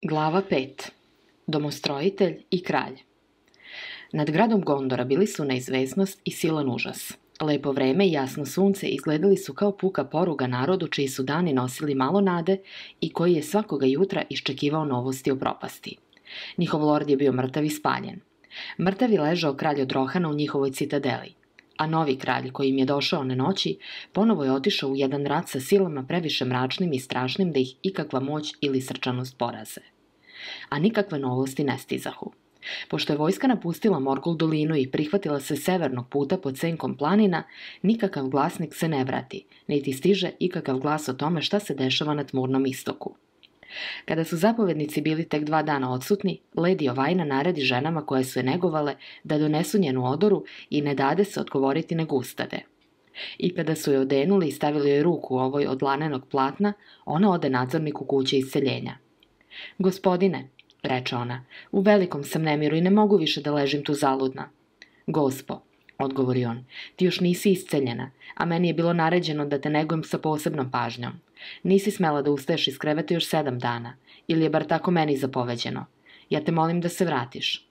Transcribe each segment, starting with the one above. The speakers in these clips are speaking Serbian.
Glava 5. Domostrojitelj i kralj. Nad gradom Gondora bili su neizvesnost i silan užas. Lepo vreme i jasno sunce izgledali su kao puka poruga narodu čiji su dani nosili malo nade i koji je svakoga jutra iščekivao novosti o propasti. Njihov lord je bio mrtav i spaljen. Mrtav je ležao kralj od Rohana u njihovoj citadeli, a novi kralj koji im je došao one noći ponovo je otišao u jedan rat sa silama previše mračnim i strašnim da ih ikakva moć ili srčanost poraze. A nikakve novosti ne stizahu. Pošto je vojska napustila Morgul dolinu i prihvatila se severnog puta pod senkom planina, nikakav glasnik se ne vrati, niti stiže ikakav glas o tome šta se dešava na tmurnom istoku. Kada su zapovednici bili tek 2 dana odsutni, Lady Ovajna naredi ženama koje su je negovale da donesu njenu odoru i ne dade se odgovoriti nego ustade. I kada su je odenuli i stavili joj ruku u ovoj od lanenog platna, ona ode nadzorniku kuće isceljenja. Gospodine, reče ona, u velikom sam nemiru i ne mogu više da ležim tu zaludna. Gospo, odgovori on, ti još nisi isceljena, a meni je bilo naređeno da te negujem sa posebnom pažnjom. Nisi smela da ustaješ iz kreveta još 7 dana, ili je bar tako meni zapoveđeno. Ja te molim da se vratiš.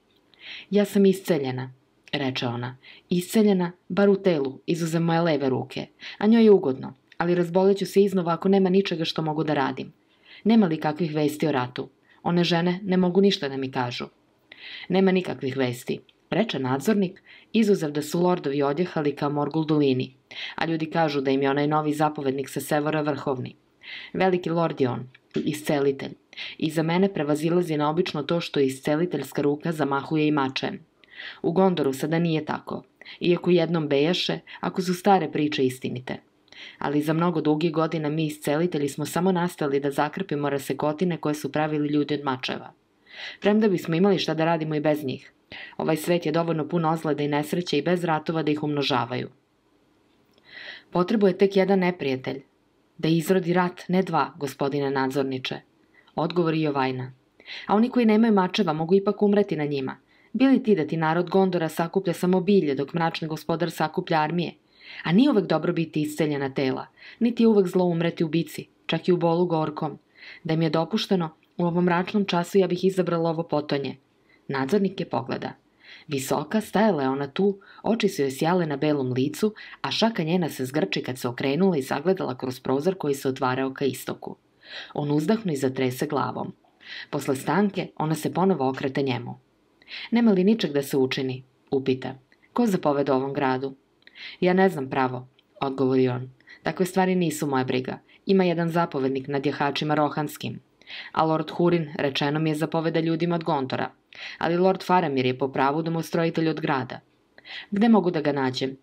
Ja sam isceljena, reče ona, isceljena, bar u telu, izuzev moje leve ruke, a njoj je ugodno, ali razboleću se iznova ako nema ničega što mogu da radim. Nema li kakvih vesti o ratu? One žene ne mogu ništa da mi kažu. Nema nikakvih vesti, reče nadzornik, izuzev da su lordovi odjehali ka Morgul dolini, a ljudi kažu da im je onaj novi zapovednik sa severa vrhovni. Veliki lord je on, iscelitelj, i za mene prevazilazi naobično to što isceliteljska ruka zamahuje i mačem. U Gondoru sada nije tako, iako jednom bejaše, ako su stare priče istinite. Ali za mnogo dugih godina mi iscelitelji smo samo nastali da zakrpimo rasekotine koje su pravili ljudi od mačeva. Premda bismo imali šta da radimo i bez njih. Ovaj svet je dovoljno pun ozleda i nesreće i bez ratova da ih umnožavaju. Potrebuje tek jedan neprijatelj. Da izrodi rat, ne 2, gospodine nadzorniče, odgovori Jovajna. A oni koji nemaju mačeva mogu ipak umreti na njima. Bili ti da ti narod Gondora sakuplja samo bilje dok mračni gospodar sakuplja armije? A nije uvek dobro biti isceljena tela, niti je uvek zlo umreti u bici, čak i u bolu gorkom. Da im je dopušteno, u ovom mračnom času ja bih izabrala ovo potonje. Nadzornik je pogleda. Visoka, stajala je ona tu, oči su joj sjale na belom licu, a šaka njena se zgrči kad se okrenula i zagledala kroz prozor koji se otvarao ka istoku. On uzdahnu i zatrese glavom. Posle stanke ona se ponovo okrete njemu. Nema li ničeg da se učini? Upita. Ko zapoveda ovom gradu? Ja ne znam pravo, odgovori on. Takve stvari nisu moja briga. Ima jedan zapovednik nad jahačima rohanskim. A lord Hurin rečeno mi je zapoveda ljudima od Gondora. Ali lord Faramir je po pravu domostrojitelj od grada. Gde mogu da ga nađem?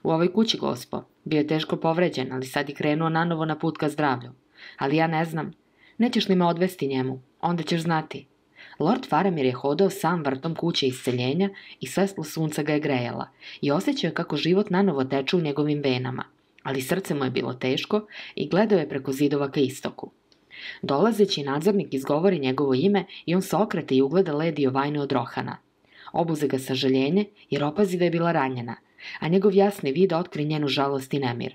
U ovoj kući, gospo. Bio je teško povređen, ali sad je krenuo nanovo na put ka zdravlju. Ali ja ne znam. Nećeš li me odvesti njemu? Onda ćeš znati. Lord Faramir je hodao sam vrtom kuće isceljenja i svetlo sunca ga je grejala i osjećao je kako život nanovo teče u njegovim venama, ali srce mu je bilo teško i gledao je preko zidova ka istoku. Dolazeći nadzornik izgovori njegovo ime i on se okrete i ugleda Lady Ovajnu od Rohana. Obuze ga sažaljenje jer opazi da je bila ranjena, a njegov jasni vid otkri njenu žalost i nemir.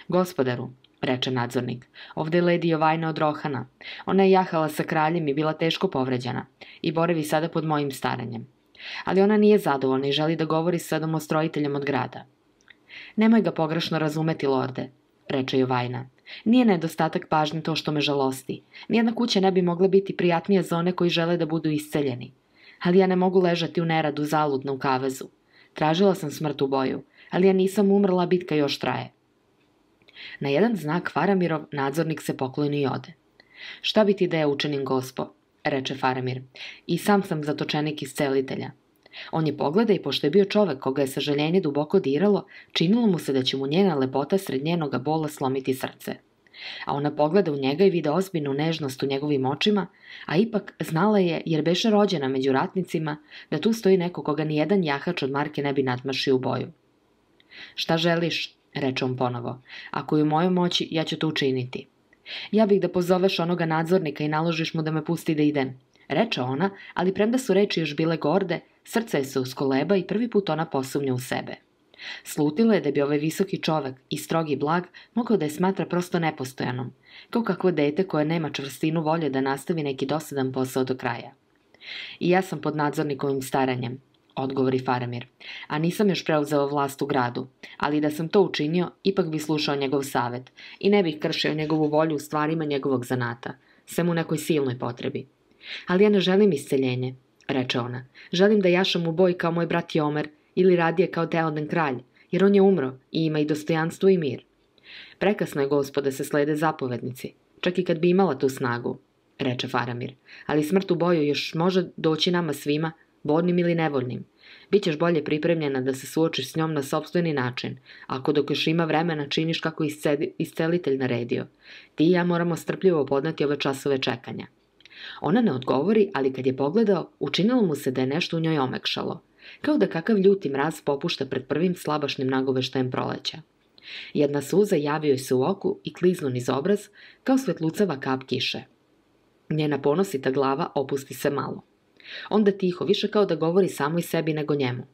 Gospodaru, reče nadzornik, ovde je Lady Ovajna od Rohana. Ona je jahala sa kraljem i bila teško povređena i boravi sada pod mojim staranjem. Ali ona nije zadovoljna i želi da govori sa domostrojiteljem od grada. Nemoj ga pogrešno razumeti, lorde, reče Jovajna. Nije nedostatak pažnje to što me žalosti. Nijedna kuća ne bi mogla biti prijatnija za one koji žele da budu isceljeni. Ali ja ne mogu ležati u neradu zaludno u kavezu. Tražila sam smrt u boju, ali ja nisam umrla, bitka još traje. Na jedan znak Faramirov nadzornik se pokloni i ode. Šta bi ti da ja učinim, gospo, reče Faramir, i sam zatočenik iscelitelja. On je pogleda i pošto je bio čovek koga je sažaljenje duboko diralo, činilo mu se da će mu njena lepota sred njenoga bola slomiti srce. A ona pogleda u njega i vide ozbiljnu nežnost u njegovim očima, a ipak znala je, jer beše rođena među ratnicima, da tu stoji neko koga nijedan jahač od marke ne bi nadmašio u boju. Šta želiš? Reče on ponovo. Ako je u mojoj moći, ja ću to učiniti. Ja bih da pozoveš onoga nadzornika i naložiš mu da me pusti da idem. Reče ona, ali premda su reči još bile gorde, srce je se uskoleba i prvi put ona posumnja u sebe. Slutila je da bi ovaj visoki čovek i strogi blag mogao da je smatra prosto nepostojanom, kao kakvo dete koje nema čvrstinu volje da nastavi neki dosadan posao do kraja. I ja sam pod nadzornikovim staranjem, odgovori Faramir, a nisam još preuzeo vlast u gradu, ali da sam to učinio, ipak bi slušao njegov savet i ne bih kršio njegovu volju u stvarima njegovog zanata, sem u nekoj silnoj potrebi. Ali ja ne želim isceljenje, reče ona. Želim da jašam u boj kao moj brat Jomer ili radije kao Teoden kralj, jer on je umro i ima i dostojanstvo i mir. Prekasno je, gospode, se slede zapovednici, čak i kad bi imala tu snagu, reče Faramir, ali smrt u boju još može doći nama svima, voljnim ili nevoljnim. Bićeš bolje pripremljena da se suočiš s njom na sopstveni način, ako dok još ima vremena činiš kako iscelitelj naredio. Ti i ja moramo strpljivo podneti ove časove čekanja. Ona ne odgovori, ali kad je pogledao, učinilo mu se da je nešto u njoj omekšalo, kao da kakav ljuti mraz popušta pred prvim slabašnim nagoveštajem proleća. Jedna suza javi joj se u oku i kliznu niz obraz, kao svetlucava kap kiše. Njena ponosita glava opusti se malo. Onda tiho, više kao da govori samoj sebi nego njemu.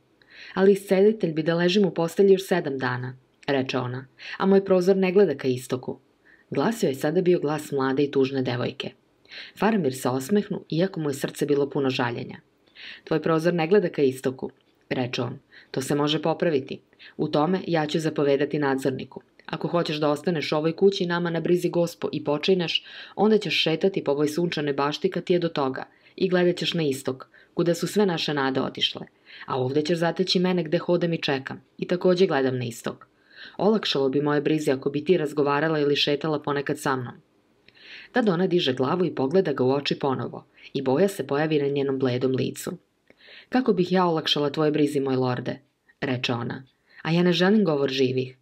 Ali iscelitelj bi da ležim u postelji još 7 dana, reče ona, a moj prozor ne gleda ka istoku. Glas joj je sada bio glas mlade i tužne devojke. Faramir se osmehnu, iako mu je srce bilo puno žaljenja. Tvoj prozor ne gleda ka istoku, reče on. To se može popraviti. U tome ja ću zapovedati nadzorniku. Ako hoćeš da ostaneš u ovoj kući nama na brizi gospo i počineš, onda ćeš šetati po ovoj sunčanoj bašti kad ti je do toga i gledat ćeš na istok, kuda su sve naše nade otišle. A ovdje ćeš zateći mene gde hodam i čekam i također gledam na istok. Olakšalo bi moje brizi ako bi ti razgovarala ili šetala ponekad sa mnom. Tad ona diže glavu i pogleda ga u oči ponovo i boja se pojavi na njenom bledom licu. Kako bih ja olakšala tvoje brizi, moj lorde, reče ona, a ja ne želim govor živih.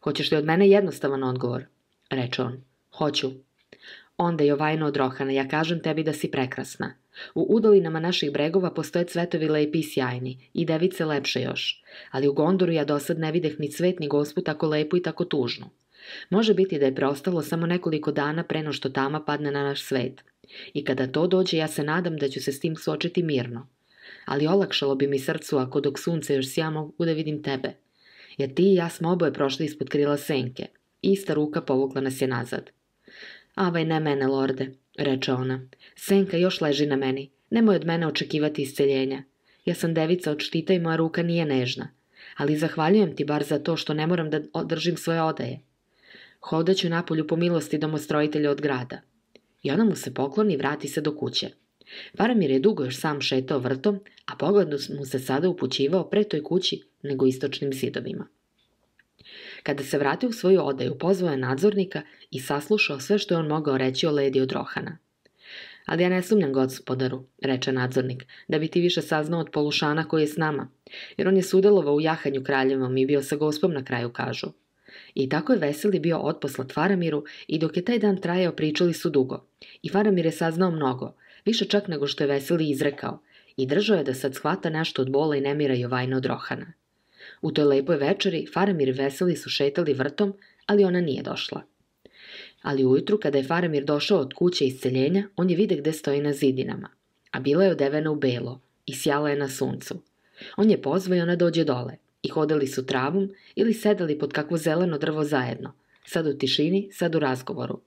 Hoćeš li od mene jednostavan odgovor, reče on. Hoću. Onda je vajno od Rohana, ja kažem tebi da si prekrasna. U udolinama naših bregova postoje cvetovi lepi i sjajni i device lepše još, ali u Gondoru ja dosad ne videh ni cvet ni gospu tako lepu i tako tužnu. Može biti da je preostalo samo nekoliko dana pre no što tama padne na naš svet. I kada to dođe, ja se nadam da ću se s tim suočiti mirno. Ali olakšalo bi mi srcu ako dok sunce još sja mogu da vidim tebe. Jer ti i ja smo oboje prošli ispod krila senke. Ista ruka povukla nas je nazad. Avaj, ne mene, lorde, reče ona. Senka još leži na meni. Nemoj od mene očekivati isceljenja. Ja sam devica od štita i moja ruka nije nežna. Ali zahvaljujem ti bar za to što ne moram da održim svoje odaje. Hodaću napolju po milosti domostrojitelja od grada. I ona mu se pokloni i vrati se do kuće. Faramir je dugo još sam šetao vrtom, a pogled mu se sada upućivao pre toj kući nego istočnim zidovima. Kada se vratio u svoju odaju, pozvao je nadzornika i saslušao sve što je on mogao reći o ledi od Rohana. Ali ja ne sumnjam, gospodaru, reče nadzornik, da bi ti više saznao od Polušana koji je s nama, jer on je sudelovao u jahanju kraljevom i bio sa gospom na kraju, kažu. I tako je Veseli bio otposlat Faramiru i dok je taj dan trajao pričali su dugo. I Faramir je saznao mnogo, više čak nego što je Veseli izrekao, i držao je da sad shvata nešto od bola i nemira Jovajna od Rohana. U toj lepoj večeri Faramir i Veseli su šetali vrtom, ali ona nije došla. Ali ujutru, kada je Faramir došao od kuće isceljenja, on je vide gde stoji na zidinama, a bila je odevena u belo i sjala je na suncu. On je pozvao i ona dođe dole, i hodali su travom ili sedali pod kakvo zeleno drvo zajedno, sad u tišini, sad u razgovoru.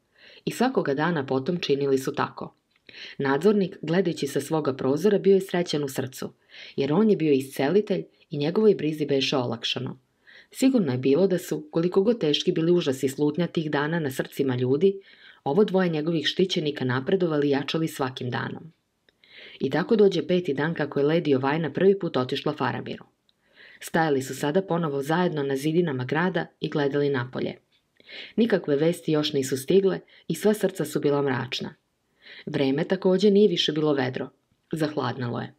I svakoga dana potom činili su tako. Nadzornik, gledajući sa svoga prozora, bio je srećan u srcu, jer on je bio iscelitelj i njegovoj brizi beše olakšano. Sigurno je bilo da su, koliko god teški bili užasi slutnja tih dana na srcima ljudi, ovo dvoje njegovih štićenika napredovali i jačali svakim danom. I tako dođe 5. dan kako je ledi Jovajna prvi put otišla Faramiru. Stajali su sada ponovo zajedno na zidinama grada i gledali napolje. Nikakve vesti još nisu stigle i sva srca su bila mračna. Vreme također nije više bilo vedro. Zahladnalo je.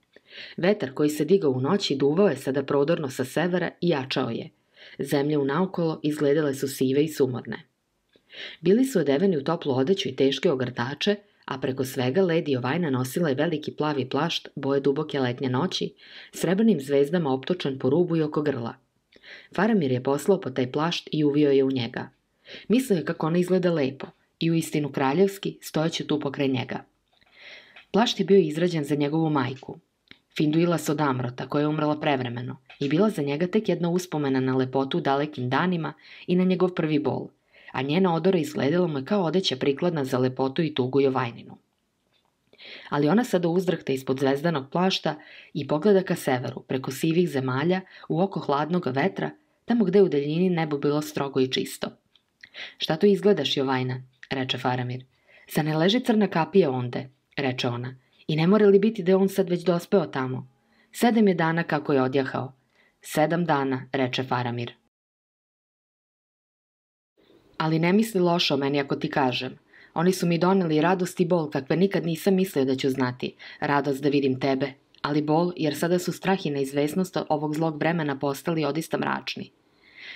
Vetar koji se digao u noći duvao je sada prodorno sa severa i jačao je. Zemlje unaokolo izgledale su sive i sumorne. Bili su odeveni u toplu odeću i teške ogrtače, a preko svega ledi Jovajna nosila je veliki plavi plašt boje duboke letnje noći, srebrnim zvezdama optočan po rubu i oko grla. Faramir je poslao po taj plašt i uvio je u njega. Mislio je kako ona izgleda lepo i uistinu kraljevski, stojeći tu pokraj njega. Plašt je bio izrađen za njegovu majku, Finduila Sodamrota, koja je umrla prevremeno, i bila za njega tek jedna uspomena na lepotu u dalekim danima i na njegov prvi bol, a njena odora izgledala mu je kao odeća prikladna za lepotu i tugu Jovajninu. Ali ona sada uzdrahta ispod zvezdanog plašta i pogleda ka severu, preko sivih zemalja, u oko hladnog vetra, tamo gde u daljini nebo bilo strogo i čisto. Šta to izgledaš, Jovajna, reče Faramir. Sa ne leži crna kapija onde, reče ona, i ne mora li biti da je on sad već dospeo tamo? 7 je dana kako je odjahao. 7 dana, reče Faramir. Ali ne misli loše o meni ako ti kažem. Oni su mi doneli radost i bol kakve nikad nisam mislio da ću znati. Radost da vidim tebe, ali bol jer sada su strah i neizvesnost ovog zlog vremena postali odista mračni.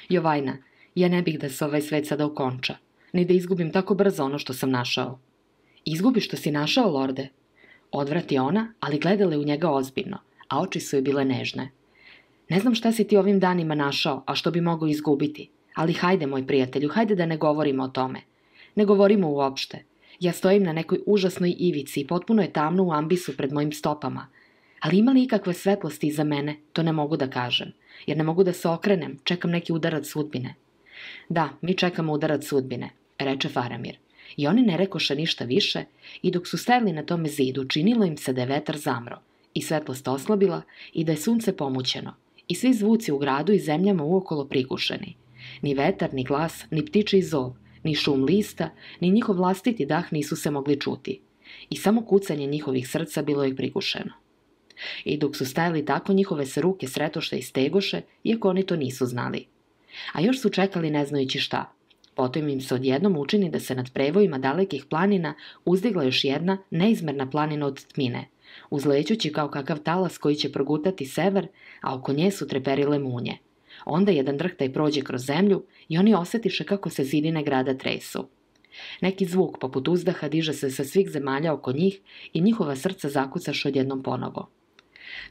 Jovajna, ja ne bih da se ovaj svet sada okonča, ni da izgubim tako brzo ono što sam našao. Izgubi što si našao, lorde? Odvrati ona, ali gledala je u njega ozbiljno, a oči su joj bile nežne. Ne znam šta si ti ovim danima našao, a što bi mogao izgubiti, ali hajde, moj prijatelju, hajde da ne govorimo o tome. Ne govorimo uopšte. Ja stojim na nekoj užasnoj ivici i potpuno je tamno u ambisu pred mojim stopama. Ali ima li ikakve svetlosti iza mene, to ne mogu da kažem, jer ne mogu da se okrenem, čekam neki udarac sudbine. Da, mi čekamo udarac sudbine, reče Faramir. I oni ne rekoše ništa više i dok su stajali na tome zidu, činilo im se da je vetar zamro i svetlost oslabila i da je sunce pomućeno i svi zvuci u gradu i zemljama uokolo prigušeni. Ni vetar, ni glas, ni ptičiji zov, ni šum lista, ni njihov vlastiti dah nisu se mogli čuti. I samo kucanje njihovih srca bilo je prigušeno. I dok su stajali tako, njihove se ruke sretoše i stegoše, iako oni to nisu znali. A još su čekali ne znajući šta. Potom im se odjednom učini da se nad prevojima dalekih planina uzdigla još jedna neizmerna planina od tmine, uzlećući kao kakav talas koji će progutati sever, a oko nje su treperile munje. Onda jedan drhtaj prođe kroz zemlju i oni osjetiše kako se zidine grada tresu. Neki zvuk poput uzdaha diže se sa svih zemalja oko njih i njihova srca zakucaše odjednom ponovo.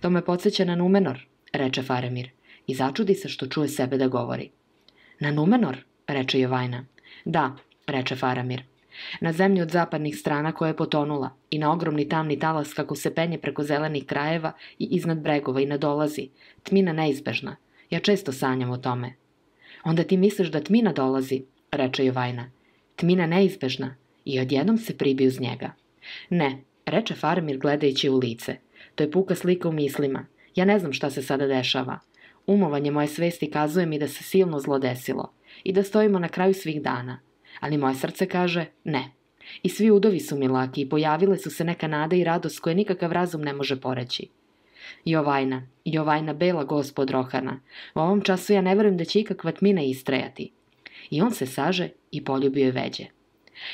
To me podsjeća na Numenor, reče Faramir, i začudi se što čuje sebe da govori. Na Numenor, reče Jovajna. Da, reče Faramir. Na zemlji od zapadnih strana koja je potonula i na ogromni tamni talas kako se penje preko zelenih krajeva i iznad bregova i nadolazi, tmina neizbežna. Ja često sanjam o tome. Onda ti misliš da tmina dolazi, reče Jovajna. Tmina neizbežna i odjednom se pribiju uz njega. Ne, reče Faramir gledajući u lice. To je puka slika u mislima. Ja ne znam šta se sada dešava. Umovanje moje svesti kazuje mi da se silno zlo desilo i da stojimo na kraju svih dana. Ali moje srce kaže ne. I svi udovi su mi laki i pojavile su se neka nada i radost koje nikakav razum ne može poreći. Jovajna, Jovajna, bela gospod Rohana, u ovom času ja ne verujem da će ikakva tmina istrajati. I on se saže i poljubio je veđe.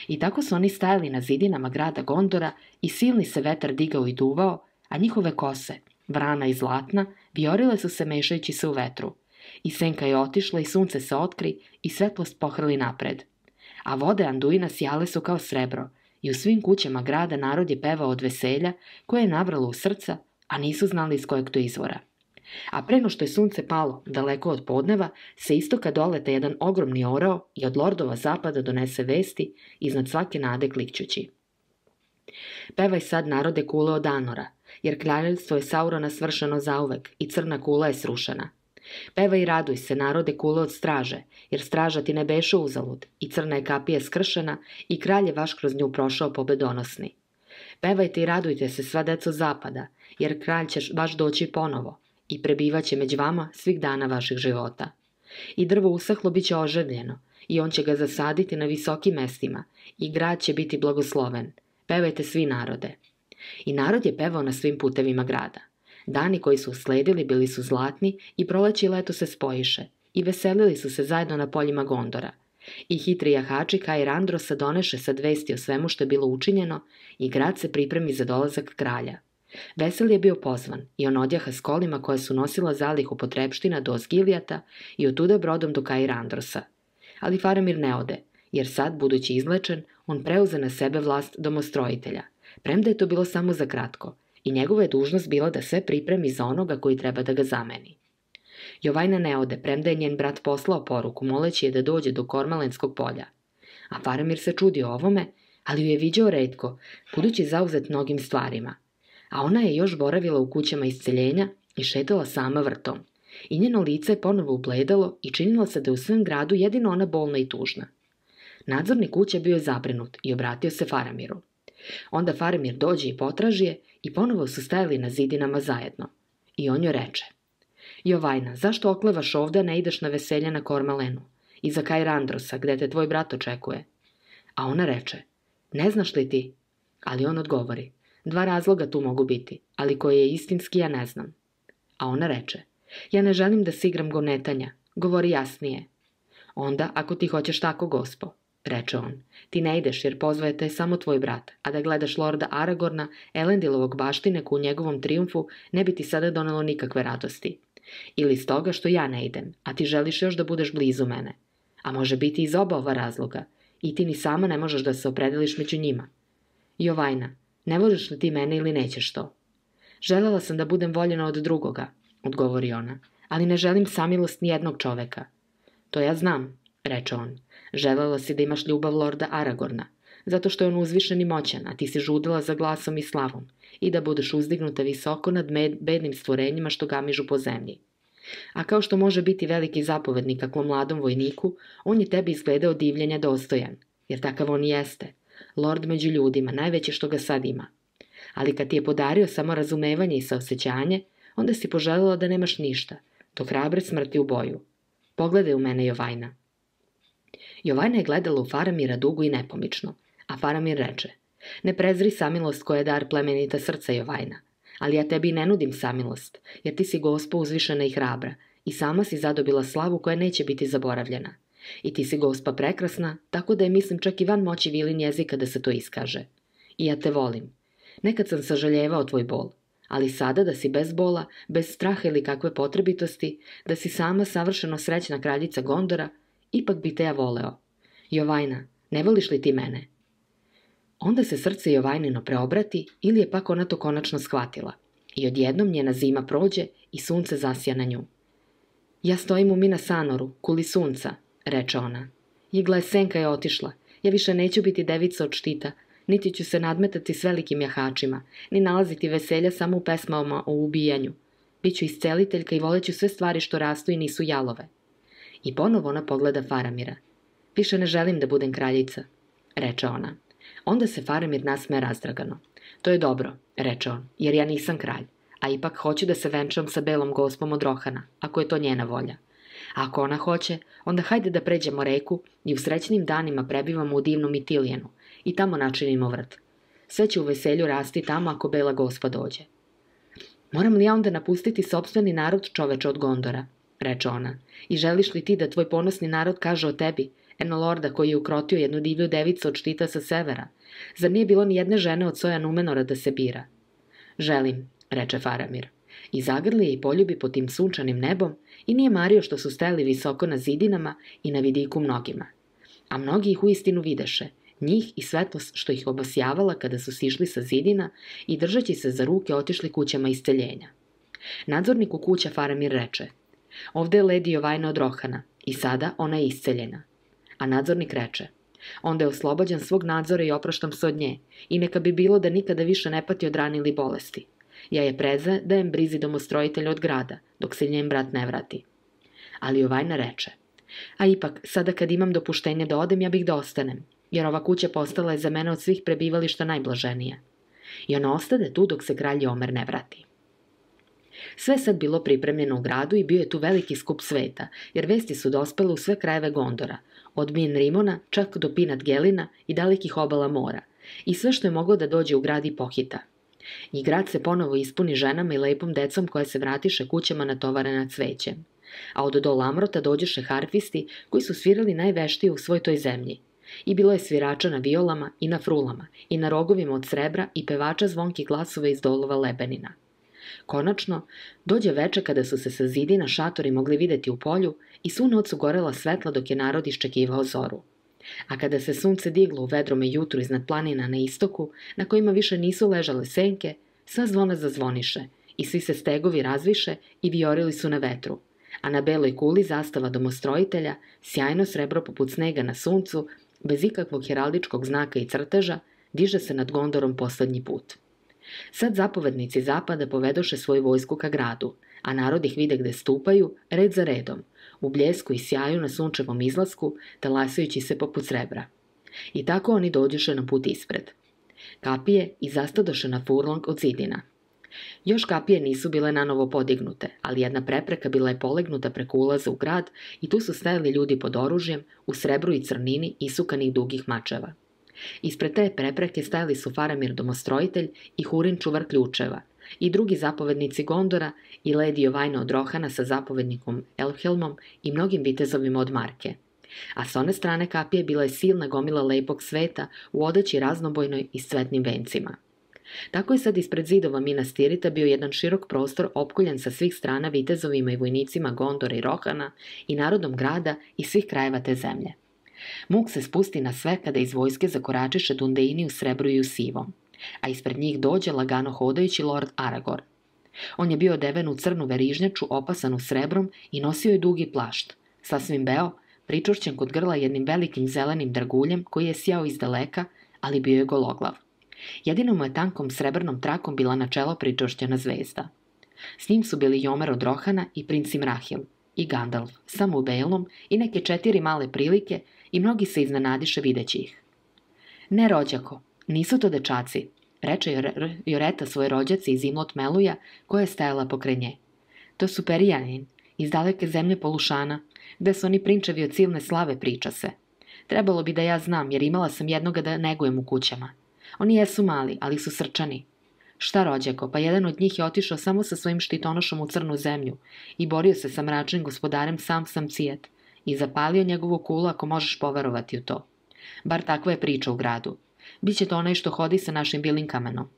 I tako su oni stajali na zidinama grada Gondora i silni se vetar digao i duvao, a njihove kose, vrana i zlatna, viorile su se mešajući se u vetru. I senka je otišla i sunce se otkri i svetlost pohrli napred. A vode Anduina sjale su kao srebro i u svim kućama grada narod je pevao od veselja koje je navralo u srca, a nisu znali iz kojeg to izvora. A preno što je sunce palo, daleko od podneva, se istoka dolete jedan ogromni orao i od lordova zapada donese vesti, iznad svake nade klikćući. Pevaj sad, narode, kule od Anora, jer kraljevstvo je Saurona svršeno zauvek i crna kula je srušena. Pevaj i raduj se, narode, kule od straže, jer straža ti ne beše uzalud i crna je kapija skršena i kralj je vaš kroz nju prošao pobedonosni. Pevajte i radujte se, sva deco zapada, jer kralj će baš doći ponovo i prebivaće među vama svih dana vaših života. I drvo usahlo bit će oživljeno i on će ga zasaditi na visokim mestima i grad će biti blagosloven. Pevajte svi, narode. I narod je pevao na svim putevima grada. Dani koji su usledili bili su zlatni i proleće i leto se spojiše i veselili su se zajedno na poljima Gondora. I hitri jahači Kair Androsa doneše sad vesti o svemu što je bilo učinjeno i grad se pripremi za dolazak kralja. Vesel je bio pozvan i on odjaha s kolima koje su nosila zalihu potrepština do Osgilijata i otuda brodom do Kair Androsa. Ali Faramir ne ode, jer sad, budući izlečen, on preuze na sebe vlast domostrojitelja, premda je to bilo samo za kratko, i njegova je dužnost bila da sve pripremi za onoga koji treba da ga zameni. Jovajna ne ode, premda je njen brat poslao poruku, moleći je da dođe do Kormalenskog polja. A Faramir se čudio ovome, ali ju je viđao retko, budući zauzet mnogim stvarima. A ona je još boravila u kućama isceljenja i šetala sama vrtom. i njeno lice je ponovo ubledalo i činilo se da je u svem gradu jedino ona bolna i tužna. Nadzornik kuće bio je zabrinut i obratio se Faramiru. Onda Faramir dođe i potraži je i ponovo su stajali na zidinama zajedno. I on joj reče: Jovajna, zašto oklevaš ovde, a ne ideš na veselje na Kormalenu? I za Kair Androsa, gde te tvoj brat očekuje? A ona reče: Ne znaš li ti? Ali on odgovori: 2 razloga tu mogu biti, ali koji je istinski ja ne znam. A ona reče: Ja ne želim da se igram gonetanja, govori jasnije. Onda, ako ti hoćeš tako, gospo, reče on, ti ne ideš jer pozvaje te samo tvoj brat, a da gledaš lorda Aragorna, Elendilovog baštineku u njegovom trijumfu, ne bi ti sada donelo nikakve radosti. Ili iz toga što ja ne idem, a ti želiš još da budeš blizu mene. A može biti iz oba ova razloga, i ti ni sama ne možeš da se opredeliš među njima. Jovajna, ne voliš li ti mene ili nećeš to? Želela sam da budem voljena od drugoga, odgovori ona, ali ne želim samilost ni jednog čoveka. To ja znam, reče on. Želela si da imaš ljubav lorda Aragorna, zato što je on uzvišen i moćan, a ti si žudila za glasom i slavom, i da budeš uzdignuta visoko nad bednim stvorenjima što gamižu po zemlji. A kao što može biti veliki zapovednik kakvom mladom vojniku, on je tebi izgledao divljenja dostojan, jer takav on jeste, lord među ljudima, najveće što ga sad ima. Ali kad ti je podario samo razumevanje i saosećanje, onda si poželjela da nemaš ništa, do hrabre smrti u boju. Pogledaj u mene, Jovajna. Jovajna je gledala u Faramira dugo i nepomično, a Faramir reče: Ne prezri samilost koja je dar plemenita srca, Jovajna, ali ja tebi ne nudim samilost, jer ti si gospa uzvišena i hrabra i sama si zadobila slavu koja neće biti zaboravljena. I ti si gospa prekrasna, tako da je mislim čak i van moći vilin jezika da se to iskaže. I ja te volim. Nekad sam sažaljevao tvoj bol, ali sada da si bez bola, bez straha ili kakve potrebitosti, da si sama savršeno srećna kraljica Gondora, ipak bi te ja voleo. Jovajna, ne voliš li ti mene? Onda se srce Jovajnino preobrati ili je pak ona to konačno shvatila i odjednom njena zima prođe i sunce zasja na nju. Ja stojim u Mina Sanoru, kuli sunca, reče ona. Igla je senka je otišla, ja više neću biti devica od štita, niti ću se nadmetati s velikim jahačima, ni nalaziti veselja samo u pesmama o ubijanju. Biću isceliteljka i voleću sve stvari što rastu i nisu jalove. I ponovo ona pogleda Faramira. Više ne želim da budem kraljica, reče ona. Onda se Faramir nasmeje razdragano. To je dobro, reče on, jer ja nisam kralj, a ipak hoću da se venčam sa belom gospom od Rohana, ako je to njena volja. A ako ona hoće, onda hajde da pređemo reku i u srećnim danima prebivamo u divnom Itilijenu i tamo načinimo vrt. Sve će u veselju rasti tamo ako bela gospa dođe. Moram li ja onda napustiti sopstveni narod, čoveče, od Gondora, reče ona, i želiš li ti da tvoj ponosni narod kaže o tebi, eno lorda koji je ukrotio jednu divlju devicu od štita sa severa? Zar nije bilo ni jedne žene od soja Numenora da se bira? Želim, reče Faramir, i zagrli je i poljubi pod tim sunčanim nebom i nije mario što su stajali visoko na zidinama i na vidiku mnogima. A mnogi ih uistinu videše, njih i svetlost što ih obasjavala kada su sišli sa zidina i držeći se za ruke otišli kućama isceljenja. Nadzorniku kuća Faramir reče: Ovde je ledi Jovajna od Rohana i sada ona je isceljena. A nadzornik reče: Onda je oslobođen svog nadzora i opraštam se od nje i neka bi bilo da nikada više ne pati od rane ili bolesti. Ja je predajem brizi domostrojitelja od grada, dok se njen brat ne vrati. Ali Jovajna reče: A ipak, sada kad imam dopuštenje da odem, ja bih da ostanem, jer ova kuća postala je za mene od svih prebivališta najblaženija. I ona ostade tu dok se kralj Omer ne vrati. Sve sad bilo pripremljeno u gradu i bio je tu veliki skup sveta, jer vesti su dospele u sve krajeve Gondora, od Min Rimona čak do Pinat Gelina i dalekih obala mora, i sve što je moglo da dođe u grad i pohita. I grad se ponovo ispuni ženama i lepom decom koje se vratiše kućama natovarena cvećem. A od do Lamrota dođeše harfisti koji su svirali najveštije u svoj toj zemlji. I bilo je svirača na violama i na frulama i na rogovima od srebra i pevača zvonkih glasova iz dolova Lebenina. Konačno, dođe veče kada su se sa zidina šatori mogli videti u polju i svu noć su gorela svetla dok je narod iščekivao zoru. A kada se sunce diglo u vedrome jutru iznad planina na istoku, na kojima više nisu ležale senke, sva zvona zazvoniše i svi se stegovi razviše i vijorili su na vetru, a na beloj kuli zastava domostrojitelja, sjajno srebro poput snega na suncu, bez ikakvog heraldičkog znaka i crteža, diže se nad Gondorom poslednji put. Sad zapovednici zapada povedoše svoju vojsku ka gradu, a narod ih vide gde stupaju, red za redom, u bljesku i sjaju na sunčevom izlasku, talasajući se poput srebra. I tako oni dođoše na put ispred. Kapije i zastadoše na furlong od zidina. Još kapije nisu bile nanovo podignute, ali jedna prepreka bila je polegnuta preko ulaza u grad i tu su stajali ljudi pod oružjem, u srebru i crnini isukanih dugih mačeva. Ispred te prepreke stajali su Faramir domostrojitelj i Hurin čuvar ključeva, i drugi zapovednici Gondora i Lady Jovajna od Rohana sa zapovednikom Elfhelmom i mnogim vitezovima od Marke. A s one strane kapije bila je silna gomila lepog sveta u odeći raznobojnoj i s cvetnim vencima. Tako je sad ispred zidova Minas Tirita bio jedan širok prostor opkoljen sa svih strana vitezovima i vojnicima Gondora i Rohana i narodom grada i svih krajeva te zemlje. Muk se spusti na sve kada iz vojske zakoračiše Dundeini u srebru i u sivom, a ispred njih dođe lagano hodajući lord Aragorn. On je bio odeven u crnu verižnjaču opasanu srebrom i nosio je dugi plašt, sasvim beo, pričvršćen kod grla jednim velikim zelenim draguljem koji je sjao iz daleka, ali bio je gologlav. Jedino mu je tankom srebrnom trakom bila na čelo pričvršćena zvezda. S njim su bili Jomer od Rohana i princ Imrahil, i Gandalf, samo u belom, i neke 4 male prilike, i mnogi se iznenadiše videći ih. Ne, rođako, nisu to dečaci, reče Joreta svoje rođaci iz Imlot Meluja, koja je stajala pokraj nje. To su Perijanin, iz daleke zemlje Polušana, gde su oni prinčevi od silne slave, priča se. Trebalo bi da ja znam, jer imala sam jednoga da negujem u kućama. Oni jesu mali, ali su srčani. Šta, rođako, pa jedan od njih je otišao samo sa svojim štitonošom u crnu zemlju i borio se sa mračnim gospodarem sam Cijet i zapalio njegovu kulu, ako možeš poverovati u to. Bar takva je priča u gradu. Biće to onaj što hodi sa našim bilim kamenom.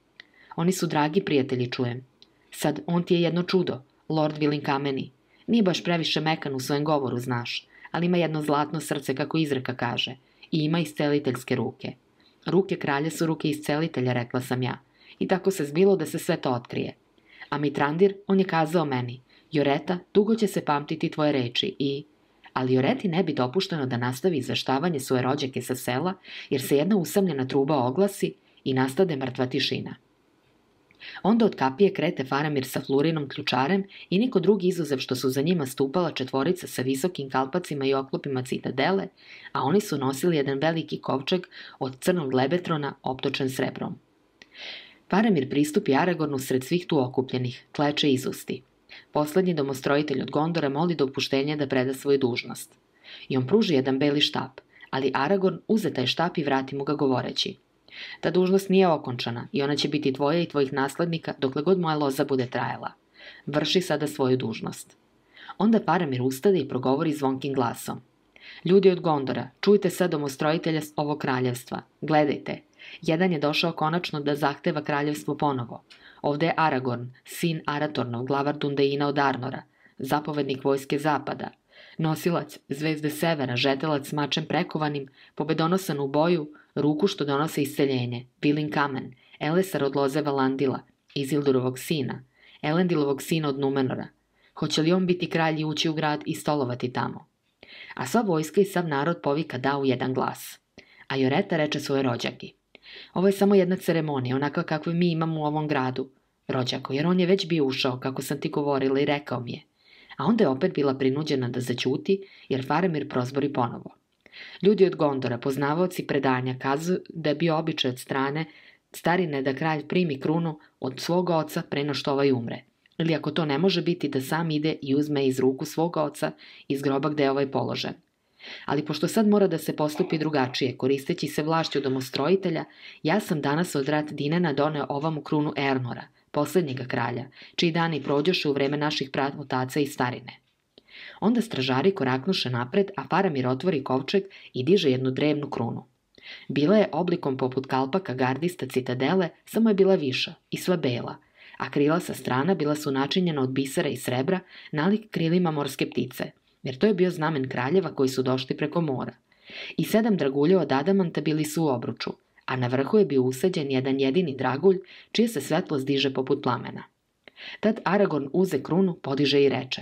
Oni su dragi prijatelji, čujem. Sad, on ti je jedno čudo, lord Vilinkameni. Nije baš previše mekan u svojem govoru, znaš, ali ima jedno zlatno srce, kako izreka kaže, i ima isceliteljske ruke. Ruke kralja su ruke iscelitelja, rekla sam ja, i tako se zbilo da se sve to otkrije. A Mitrandir, on je kazao meni, Joreta, dugo će se pamtiti tvoje reči i... Ali Joreti ne bi dopušteno da nastavi izveštavanje svoje rođake sa sela, jer se jedna usamljena truba oglasi i nastade mrtva tišina. Onda od kapije krete Faramir sa Flurinom ključarem i niko drugi izuzev što su za njima stupala 4 sa visokim kalpacima i oklopima citadele, a oni su nosili jedan veliki kovčeg od crnog lebetrona optočen srebrom. Faramir pristupi Aragornu sred svih tu okupljenih, kleče izusti. Poslednji domostrojitelj od Gondora moli dopuštenje da preda svoju dužnost. I on pruži jedan beli štap, ali Aragorn uze taj štap i vrati mu ga govoreći. Ta dužnost nije okončana i ona će biti tvoja i tvojih naslednika dokle god moja loza bude trajala. Vrši sada svoju dužnost. Onda Faramir ustade i progovori zvonkim glasom. Ljudi od Gondora, čujte sad domostrojitelja ovog kraljevstva. Gledajte, jedan je došao konačno da zahteva kraljevstvo ponovo. Ovde je Aragorn, sin Aratornov, glavar Dundeina od Arnora, zapovednik vojske zapada, nosilac zvezde severa, žetelac s mačem prekovanim, pobedonosan u boju, ruku što donose isceljenje, Vilin kamen, Elesar od loze Valandila, Izildurovog sina, Elendilovog sina od Numenora. Hoće li on biti kralj i ući u grad i stolovati tamo? A sva vojska i sav narod povika da u jedan glas. A Joreta reče svoje rođaki. Ovo je samo jedna ceremonija, onakva kakvu mi imamo u ovom gradu, rođako, jer on je već bio ušao, kako sam ti govorila i rekao mi je. A onda je opet bila prinuđena da zaćuti, jer Faramir prozbori ponovo. Ljudi od Gondora, poznavaoci predanja, kazuju da je bio običaj od strane starine da kralj primi krunu od svog oca pre no što ovaj umre. Ili ako to ne može biti, da sam ide i uzme iz ruku svog oca iz groba gde je ovaj položen. Ali pošto sad mora da se postupi drugačije, koristeći se vlašću domostrojitelja, ja sam danas od rat Dinena doneo ovamu krunu Ernora, poslednjega kralja, čiji dani prođoše u vreme naših pravotaca i starine. Onda stražari koraknuše napred, a Faramir otvori kovčeg i diže jednu drevnu krunu. Bila je oblikom poput kalpaka gardista citadele, samo je bila viša i sva bela, a krila sa strana bila su načinjena od bisera i srebra, nalik krilima morske ptice, jer to je bio znamen kraljeva koji su došli preko mora. I 7 dragulja od adamanta bili su u obruču, a na vrhu je bio usađen jedan jedini dragulj, čije se svetlost diže poput plamena. Tad Aragorn uze krunu, podiže i reče: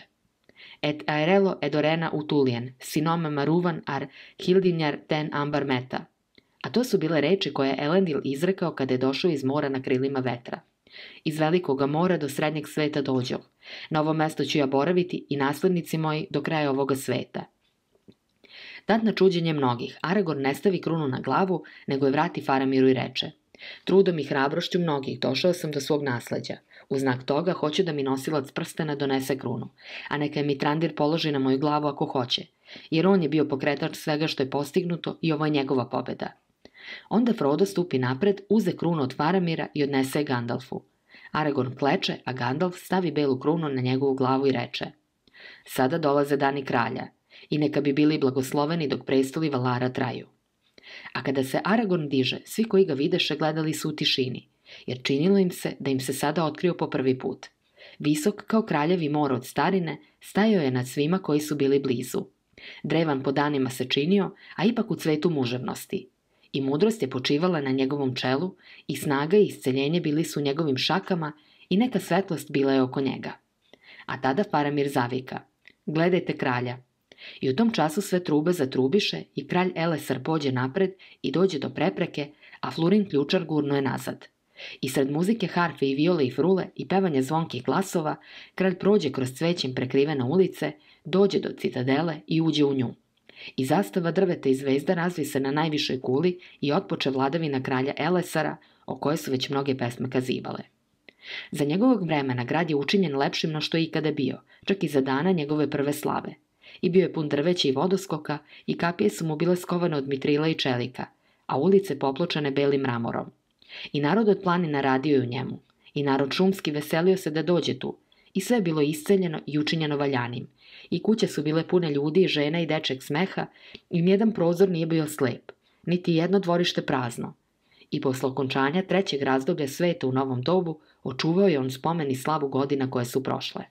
Et aerelo edorena utulien, sinome maruvan ar hildinjar ten ambar meta. A to su bile reči koje je Elendil izrekao kada je došao iz mora na krilima vetra. Iz velikoga mora do srednjeg sveta dođoh. Na ovo mesto ću ja boraviti i naslednici moji do kraja ovoga sveta. Tad na čuđenje mnogih, Aragorn ne stavi krunu na glavu, nego je vrati Faramiru i reče: Trudom i hrabrošću mnogih došao sam do svog nasleđa. U znak toga hoću da mi nosilac prstena donese krunu, a neka je Mitrandir položi na moju glavu ako hoće, jer on je bio pokretač svega što je postignuto i ovo je njegova pobeda. Onda Frodo stupi napred, uze krunu od Faramira i odnese je Gandalfu. Aragorn kleče, a Gandalf stavi belu krunu na njegovu glavu i reče: Sada dolaze dani kralja, i neka bi bili blagosloveni dok prestoli Valara traju. A kada se Aragorn diže, svi koji ga videše gledali su u tišini, jer činilo im se da im se sada otkrio po prvi put. Visok kao kraljevi mor od starine, stajao je nad svima koji su bili blizu. Drevan po danima se činio, a ipak u cvetu muževnosti. I mudrost je počivala na njegovom čelu, i snaga i isceljenje bili su u njegovim šakama, i neka svetlost bila je oko njega. A tada Faramir zavika: Gledajte kralja! I u tom času sve trube zatrubiše i kralj Elessar pođe napred i dođe do prepreke, a Flurin ključar gurno je nazad. I sred muzike harfe i viole i frule i pevanja zvonkih glasova, kralj prođe kroz cvećem prekrivene ulice, dođe do citadele i uđe u nju. I zastava drveta i zvezda razvi se na najvišoj kuli i otpoče vladavina kralja Elessara, o kojoj su već mnoge pesme kazivale. Za njegovog vremena grad je učinjen lepšim no što je ikada bio, čak i za dana njegove prve slave. I bio je pun drveća i vodoskoka, i kapije su mu bile skovane od mitrila i čelika, a ulice popločane belim mramorom. I narod od planina radio je u njemu, i narod šumski veselio se da dođe tu, i sve je bilo isceljeno i učinjeno valjanim, i kuće su bile pune ljudi i žena i dečeg smeha, i nijedan prozor nije bio slep, niti jedno dvorište prazno. I posle okončanja trećeg razdoblja sveta u novom dobu, očuvao je on spomen i slavu godina koje su prošle.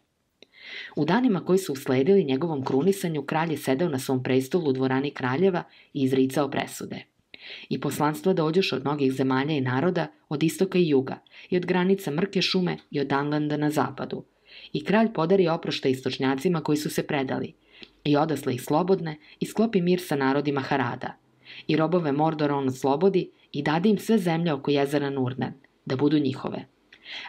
U danima koji su usledili njegovom krunisanju, kralj je sedeo na svom prestolu u dvorani kraljeva i izricao presude. I poslanstva dođoše od mnogih zemalja i naroda, od istoka i juga, i od granica Mrke šume i od Danlanda na zapadu. I kralj podari oproštaj istočnjacima koji su se predali, i odasle ih slobodne, i sklopi mir sa narodima Harada. I robove Mordora on oslobodi i dade im sve zemlje oko jezera Nurnen, da budu njihove.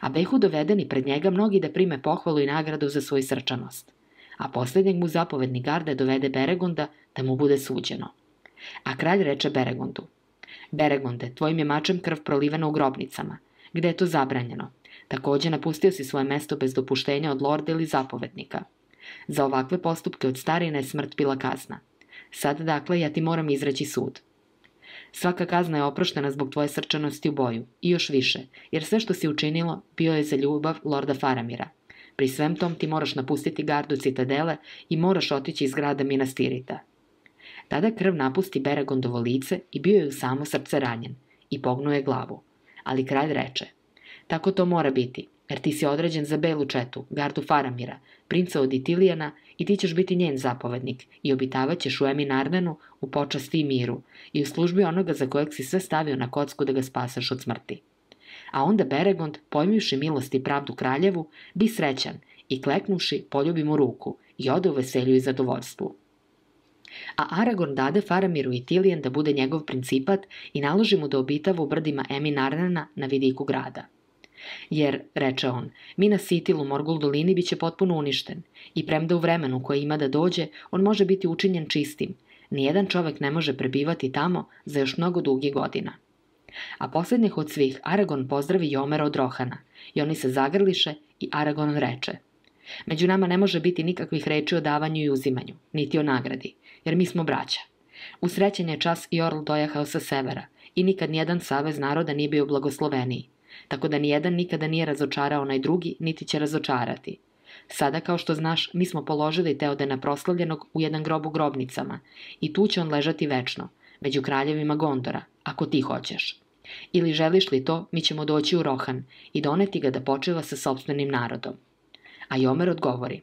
A behu dovedeni pred njega mnogi da prime pohvalu i nagradu za svoju srčanost. A posljednjeg mu zapovednik garde dovede Beregonda da mu bude suđeno. A kralj reče Beregondu: Beregonde, tvojim je mačem krv prolivena u grobnicama, gde je to zabranjeno. Takođe napustio si svoje mesto bez dopuštenja od lorda ili zapovednika. Za ovakve postupke od starine je smrt bila kazna. Sad, dakle, ja ti moram izreći sud. Svaka kazna je oproštena zbog tvoje srčanosti u boju, i još više, jer sve što si učinilo bio je za ljubav lorda Faramira. Pri svem tom ti moraš napustiti gardu citadele i moraš otići iz grada Minas Tirita. Tada krv napusti Beregondovo lice i bio je u samo srce ranjen, i pognuo je glavu. Ali kralj reče: Tako to mora biti, jer ti si određen za belu četu, gardu Faramira, princa od Itilijana, i ti ćeš biti njen zapovednik i obitavat ćeš u Emin Ardenu u počasti i miru i u službi onoga za kojeg si sve stavio na kocku da ga spasaš od smrti. A onda Beregond, pojmivši milost i pravdu kraljevu, bi srećan i kleknuši poljubi mu ruku i ode u veselju i zadovoljstvu. A Aragorn dade Faramiru i Tilijan da bude njegov principat i naloži mu da obitava u brdima Emin Ardena na vidiku grada. Jer, reče on, Minas Ithil u Morgul dolini biće potpuno uništen i premda u vremenu koje ima da dođe, on može biti učinjen čistim. Nijedan čovek ne može prebivati tamo za još mnogo dugih godina. A posljednjih od svih Aragorn pozdravi Jomera od Rohana i oni se zagrliše i Aragorn reče: Među nama ne može biti nikakvih reči o davanju i uzimanju, niti o nagradi, jer mi smo braća. Usrećen je čas i orl dojahao sa severa i nikad nijedan savez naroda nije bio blagosloveniji. Tako da nijedan nikada nije razočarao onaj drugi, niti će razočarati. Sada, kao što znaš, mi smo položili Teodena proslavljenog u jedan grob u grobnicama i tu će on ležati večno, među kraljevima Gondora, ako ti hoćeš. Ili želiš li to, mi ćemo doći u Rohan i doneti ga da počiva sa sopstvenim narodom. A Jomer odgovori: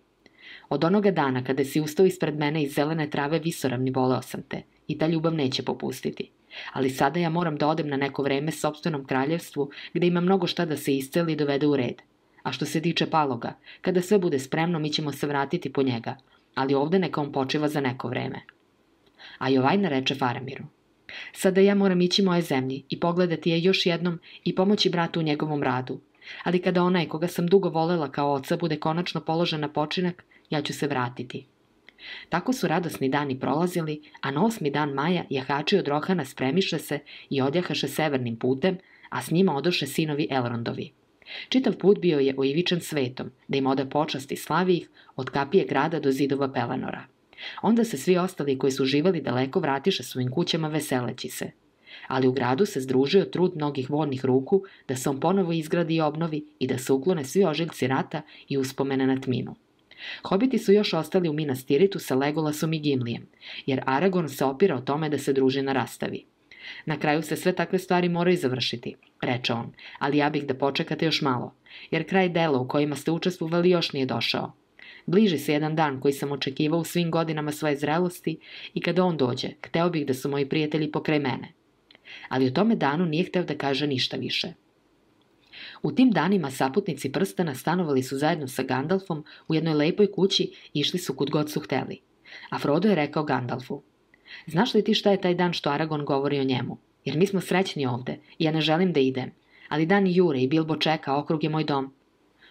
Od onoga dana kada si ustao ispred mene iz zelene trave visoravni voleo sam te i ta ljubav neće popustiti. Ali sada ja moram da odem na neko vreme sopstvenom kraljevstvu gde ima mnogo šta da se isceli i dovede u red. A što se tiče Paloga, kada sve bude spremno mi ćemo se vratiti po njega, ali ovde neka on počiva za neko vreme. A Jovajna reče Faramiru: Sada ja moram ići moje zemlji i pogledati je još jednom i pomoći bratu u njegovom radu, Ali kada onaj koga sam dugo volela kao oca bude konačno položen na počinak, ja ću se vratiti. Tako su radosni dani prolazili, a na 8. dan maja jahači od Rohana spremiše se i odjahaše severnim putem, a s njima odoše sinovi Elrondovi. Čitav put bio je oivičan svetom, da im ode počast i slavi ih od kapije grada do zidova Pelenora. Onda se svi ostali koji su živali daleko vratiše svojim kućama veseleći se. Ali u gradu se združio trud mnogih voljnih ruku da se on ponovo izgradi i obnovi i da se uklone svi ožiljci rata i uspomene na tminu. Hobiti su još ostali u Minas Tiritu sa Legolasom i Gimlijem, jer Aragorn se opira o tome da se družina rastavi. Na kraju se sve takve stvari moraju završiti, reče on, ali ja bih da počekate još malo, jer kraj dela u kojima ste učestvovali još nije došao. Bliži se jedan dan koji sam očekivao u svim godinama svoje zrelosti i kada on dođe, hteo bih da su moji prijatelji pokraj mene. Ali o tome danu nije hteo da kaže ništa više. U tim danima saputnici prstena stanovali su zajedno sa Gandalfom u jednoj lepoj kući i išli su kud god su hteli. A Frodo je rekao Gandalfu: "Znaš li ti šta je taj dan što Aragorn govori o njemu? Jer mi smo srećni ovde i ja ne želim da idem, ali dani jure i Bilbo čeka, okrug je moj dom."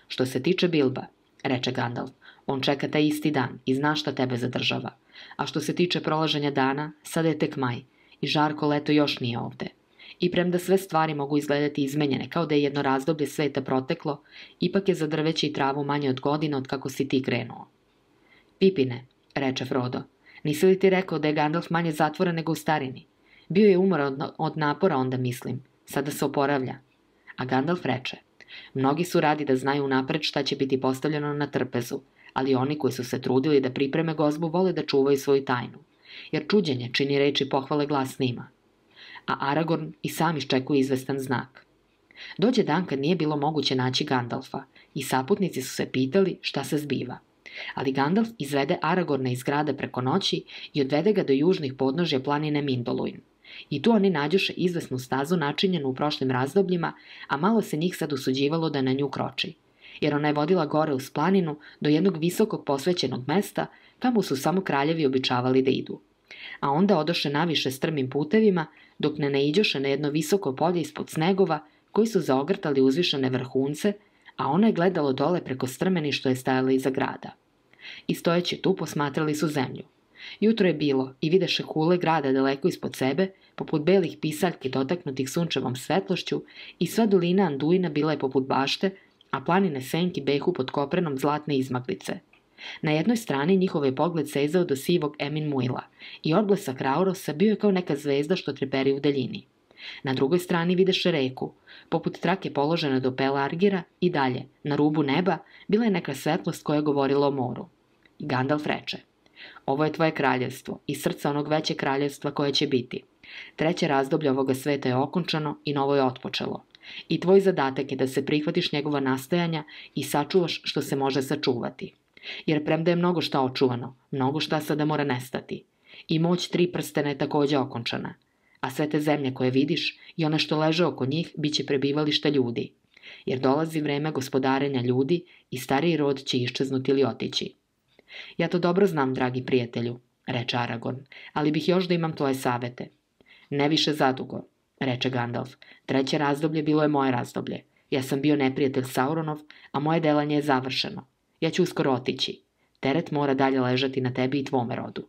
"Što se tiče Bilba," reče Gandalf, "on čeka taj isti dan i zna šta tebe zadržava. A što se tiče prolaženja dana, sada je tek maj i žarko leto još nije ovde. I premda sve stvari mogu izgledati izmenjene kao da je jedno razdoblje sveta proteklo, ipak je za drveće i travu manje od godine od kako si ti krenuo." "Pipine," reče Frodo, "nisi li ti rekao da je Gandalf manje zatvoren nego u starini? Bio je umoran od napora onda mislim, sada se oporavlja." A Gandalf reče: "Mnogi su radi da znaju unapred šta će biti postavljeno na trpezu, ali oni koji su se trudili da pripreme gozbu vole da čuvaju svoju tajnu, jer čuđenje čini reči pohvale glasnima." A Aragorn i sam iščekuje izvestan znak. Dođe dan kad nije bilo moguće naći Gandalfa i saputnici su se pitali šta se zbiva. Ali Gandalf izvede Aragorna iz grada preko noći i odvede ga do južnih podnožja planine Mindoluin. I tu oni nađoše izvesnu stazu načinjenu u prošlim razdobljima, a malo se njih sad usuđivalo da na nju kroči, jer ona je vodila gore uz planinu do jednog visokog posvećenog mesta kamo su samo kraljevi običavali da idu. A onda odoše naviše strmim putevima, dok ne naiđoše na jedno visoko polje ispod snegova koji su zaogrtali uzvišene vrhunce, a ono je gledalo dole preko strmeni što je stajala iza grada. I stojeći tu posmatrali su zemlju. Jutro je bilo i videše kule grada daleko ispod sebe, poput belih pisaljki dotaknutih sunčevom svetlošću, i sva dolina Anduina bila je poput bašte, a planine senki behu pod koprenom zlatne izmaglice. Na jednoj strani njihov je pogled sezao do sivog Emin Muila i odblesak Raurosa bio je kao neka zvezda što treperi u daljini. Na drugoj strani videše reku, poput trake položene do Pelargira, i dalje, na rubu neba, bila je neka svetlost koja je govorila o moru. I Gandalf reče: "Ovo je tvoje kraljevstvo i srce onog veće kraljevstva koje će biti. Treće razdoblje ovoga sveta je okončano i novo je otpočelo. I tvoj zadatak je da se prihvatiš njegova nastojanja i sačuvaš što se može sačuvati. Jer premda je mnogo šta očuvano, mnogo šta sada mora nestati. I moć 3 prstena je takođe okončana. A sve te zemlje koje vidiš i one što leže oko njih bit će prebivališta ljudi. Jer dolazi vreme gospodarenja ljudi i stariji rod će iščeznuti ili otići." "Ja to dobro znam, dragi prijatelju," reče Aragorn, "ali bih još da imam tvoje savete." "Ne više zadugo," reče Gandalf. "Treće razdoblje bilo je moje razdoblje. Ja sam bio neprijatelj Sauronov, a moje delanje je završeno. Ja ću uskoro otići. Teret mora dalje ležati na tebi i tvome rodu."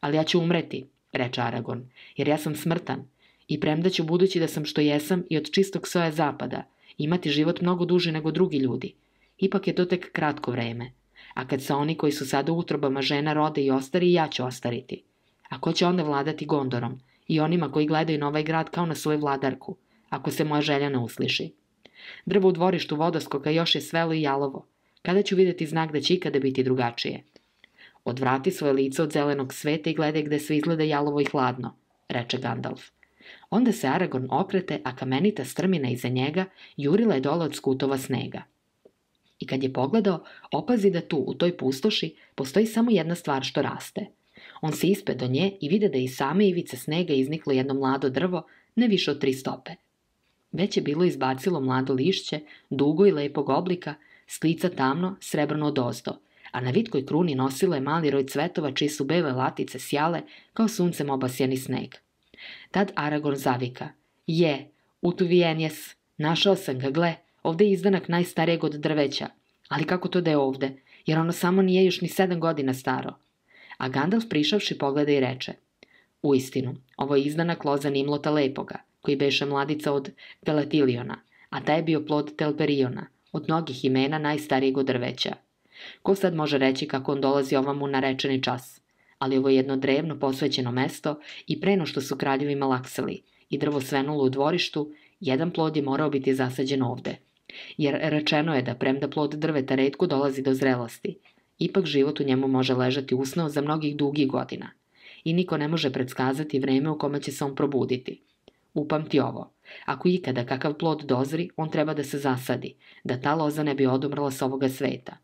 "Ali ja ću umreti," reče Aragorn, "jer ja sam smrtan i premda ću, budući da sam što jesam i od čistog soja zapada, imati život mnogo duži nego drugi ljudi, ipak je to tek kratko vreme. A kad se oni koji su sada u utrobama žena rode i ostari, ja ću ostariti. A ko će onda vladati Gondorom i onima koji gledaju na ovaj grad kao na svoju vladarku, ako se moja želja ne usliši? Drvo u dvorištu vodoskoka još je svelo i jalovo. Kada ću vidjeti znak da će ikada biti drugačije?" "Odvrati svoje lice od zelenog sveta i gledaj gde sve izgleda jalovo i hladno," reče Gandalf. Onda se Aragorn okrete, a kamenita strmina iza njega jurila je dole od skutova snega. I kad je pogledao, opazi da tu, u toj pustoši, postoji samo jedna stvar što raste. On se ispe do nje i vide da je iz same ivice snega izniklo jedno mlado drvo, ne više od 3 stope. Već je bilo izbacilo mlado lišće, dugo i lepog oblika, s lica tamno, srebrno odozdo, a na vitkoj kruni nosilo je mali roj cvetova čiji su bele latice sjale kao suncem obasjani sneg. Tad Aragorn zavika: "Je, utuvijen jes, našao sam ga, gle, ovde je izdanak najstarijeg od drveća, ali kako to da je ovde, jer ono samo nije još ni 7 godina staro. A Gandalf prišavši pogleda i reče, uistinu, ovo je izdanak loza Nimlota Lepoga, koji beše mladica od Pelatiliona, a taj je bio plod Telperiona, od mnogih imena najstarijeg od drveća. Ko sad može reći kako on dolazi ovamu na rečeni čas? Ali ovo je jedno drevno posvećeno mesto i pre no što su kraljevi malaksali i drvo svenulo u dvorištu, jedan plod je morao biti zasađen ovde. Jer rečeno je da premda plod drveta retko dolazi do zrelosti, ipak život u njemu može ležati usno za mnogih dugih godina i niko ne može predskazati vreme u kome će se on probuditi. Upamti ovo, ako ikada kakav plod dozri, on treba da se zasadi, da ta loza ne bi odumrla s ovoga sveta.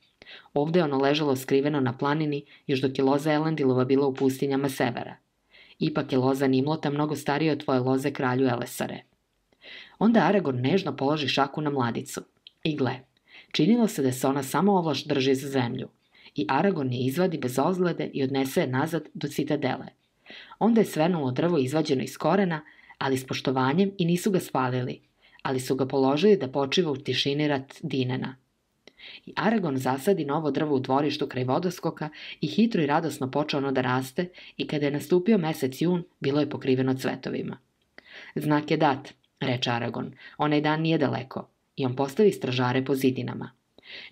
Ovde je ono ležalo skriveno na planini još dok je loza Elendilova bila u pustinjama severa. Ipak je loza Nimlota mnogo starija od tvoje loze kralju Elessare. Onda Aragorn nežno položi šaku na mladicu. I gle, činilo se da se ona samo ovlaš drži za zemlju. I Aragorn je izvadi bez ozglede i odnese je nazad do citadele. Onda je svenulo drvo izvađeno iz korena, ali s poštovanjem i nisu ga spalili, ali su ga položili da počiva u tišini rat Dinena. I Aragorn zasadi novo drvo u dvorištu kraj vodoskoka i hitro i radosno počeo ono da raste i kada je nastupio mesec jun, bilo je pokriveno cvetovima. Znak je dat, reče Aragorn, onaj dan nije daleko, i on postavi stražare po zidinama.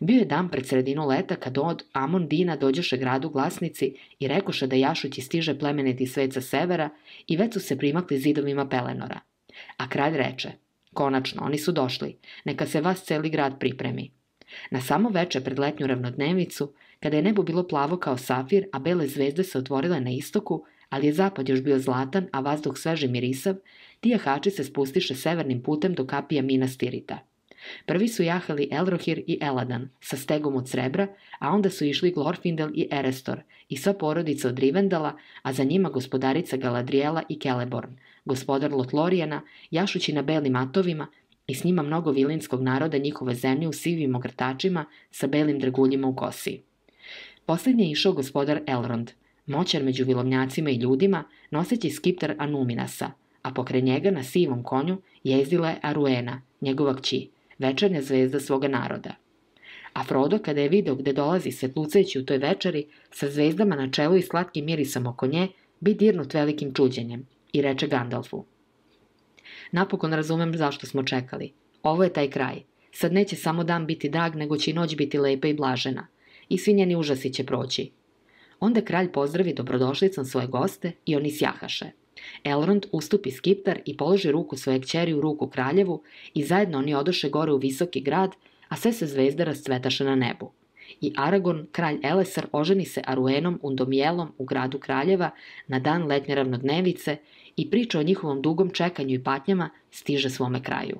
Bio je dan pred sredinu leta kad od Amon Dina dođoše gradu glasnici i rekoše da jašući stiže plemeniti svet sa severa i već su se primakli zidovima Pelenora. A kralj reče, konačno, oni su došli, neka se vas celi grad pripremi. Na samo veče pred letnju ravnodnevicu, kada je nebo bilo plavo kao safir, a bele zvezde se otvorile na istoku, ali je zapad još bio zlatan, a vazduh sveže mirisav, ti jahači se spustiše severnim putem do kapija Minas Tirita. Prvi su jahali Elrohir i Eladan sa stegom od srebra, a onda su išli Glorfindel i Erestor i sva porodica od Rivendala, a za njima gospodarica Galadriela i Celeborn, gospodar Lotlorijana, jašući na belim atovima i s njima mnogo vilinskog naroda njihove zemlje u sivim ogrtačima sa belim draguljima u kosi. Posljednje je išao gospodar Elrond, moćan među vilovnjacima i ljudima, noseći skiptar Anuminasa, a pokraj njega na sivom konju jezdila je Aruena, njegova kći, večernja zvezda svoga naroda. A Frodo, kada je video gde dolazi svetlucajući u toj večeri, sa zvezdama na čelu i slatkim mirisom oko nje, bi dirnut velikim čuđenjem i reče Gandalfu. Napokon razumem zašto smo čekali. Ovo je taj kraj. Sad neće samo dan biti drag, nego će i noć biti lepa i blažena. I svi njeni užasi će proći. Onda kralj pozdravi dobrodošlicom svoje goste i oni sjahaše. Elrond ustupi skiptar i položi ruku svoje kćeri u ruku kraljevu i zajedno oni odoše gore u visoki grad, a sve se zvezde rascvetaše na nebu. I Aragorn, kralj Elessar, oženi se Aruenom Undomijelom u gradu kraljeva na dan letnje ravnodnevice i priča o njihovom dugom čekanju i patnjama stiže svome kraju.